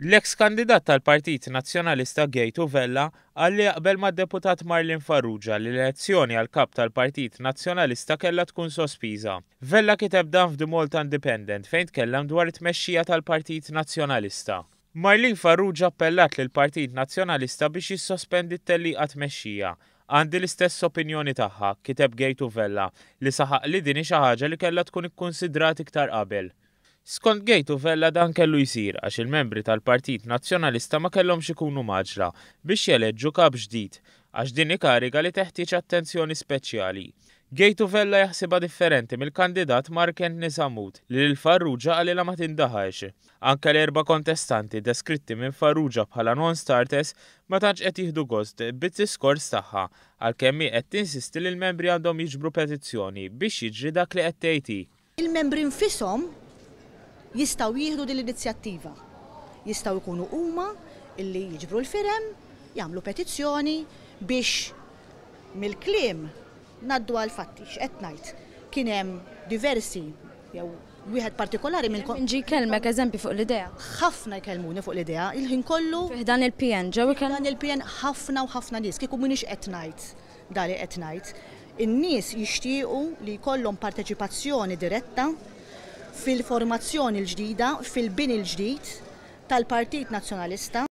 L-eks kandidat tal-Partit Nazzjonalista Gejtu Vella qal li jaqbel mad-Deputat Marlene Farrugia li l-elezzjoni għal Kap tal-Partit Nazzjonalista kellha tkun sospiża. Vella kiteb dan f'The Malta Independent fejn tkellem dwar it-tmexxija tal-Partit Nazzjonalista. Marlene Farrugia appellat lill-Partit Nazzjonalista biex jissospendi t-tellieqa tmexxija. Għandi l-istess opinjoni tagħha, kiteb Gejtu Vella, li saħaq li din hi xi ħaġa li kellha tkun ikkunsidrat iktar qabel. Skont Gejtu Vella dan kellu jsir għax il-membri tal-Partit Nazzjonalista ma kellhomx ikunu mgħaġġla biex jeleġġu kap ġdid għax din hi kariga li teħtieġ attenzjoni speċjali. Gejtu Vella jaħsibha differenti mill-kandidat Mark Anthony Sammut li lil Farrugia qalilha ma tindaħalx. Anke l-erba' kontestanti deskritti minn Farrugia bħala non-starters ma tantx qed jieħdu gost bid-diskors tagħha għalkemm hi qed tinsisti li l-membri għandhom jiġbru petizzjoni biex jiġri dak li qed tgħid hi. Il-membri nfishom jistgħu jieħdu din l-inizjattiva. Jistgħu jkunu huma illi jiġbru l-firem, jagħmlu petizzjoni biex mill-kliem ngħaddu għall-fatti. X'qed ngħid? Kien hemm diversi jew wieħed partikolari minn. Min ġie jkellmek eżempju fuq l-idea? Ħafna jkellmuni fuq l-idea, il-ħin kollu. Fi ħdan il-PN ġew ikellmuk? Fi ħdan il-PN ħafna u ħafna nies. Kieku m'iniex qed ngħid dak li qed ngħid. In-nies jixtiequ li jkollhom parteċipazzjoni diretta fil-formazzjoni l-ġdida, fil-bini l-ġdid tal-Partit Nazzjonalista.